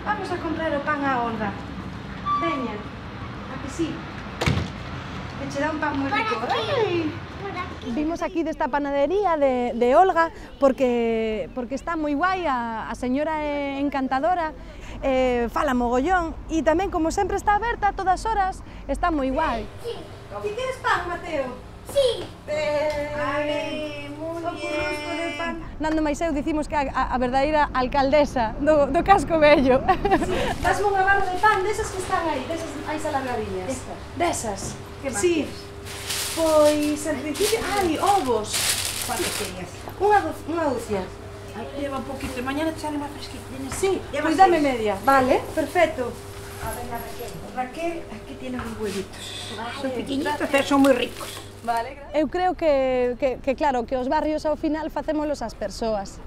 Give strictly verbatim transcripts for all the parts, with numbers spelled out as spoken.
Vamos a comprar o pan a Olga. Veña, a que sí? Que che dá un pan moi rico. Ai. Vimos aquí desta panadería de, de Olga porque, porque está moi guai, a, a señora é encantadora, eh, fala mogollón e tamén, como sempre, está aberta a todas horas, está moi guai. Sí. Ti queres pan, Mateo? Sí. Eh, Ai, moi ben. Nando máis eu dicimos que a, a, a verdadeira alcaldesa do, do casco vello. Sí. Dasme unha barra de pan desas que están aí, desas aí alargadillas. Desas. Desas. Que máis Sí. queres? Pois, en principio, ai, ovos. Cuántos tenías? Unha, do, unha dúcia. Ai, lleva un poquito, mañana te sale máis fresquito. Sí, Lleva pois dame seis. media. Vale, perfecto. A ver, la Raquel. Raquel, aquí tienes los huevitos. Vale, Son pequeñitos, pero son moi ricos. Vale, eu creo que, que, que, claro, que os barrios ao final facémolos as persoas.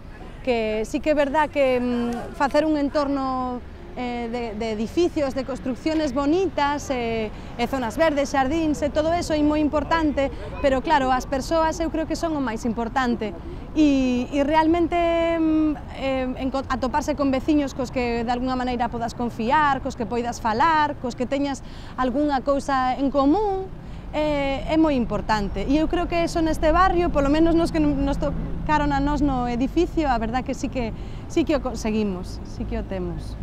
Que sí que é verdad que mm, facer un entorno eh, de, de edificios, de construcciones bonitas, eh, e zonas verdes, xardíns, e todo eso é moi importante, pero claro, as persoas eu creo que son o máis importante. E, e realmente eh, atoparse con veciños cos que de alguna maneira podas confiar, cos que poidas falar, cos que teñas algunha cousa en común, é, é moi importante. E eu creo que eso neste barrio, polo menos nos que nos tocaron a nós no edificio, a verdad que sí que, sí que o conseguimos, sí que o temos.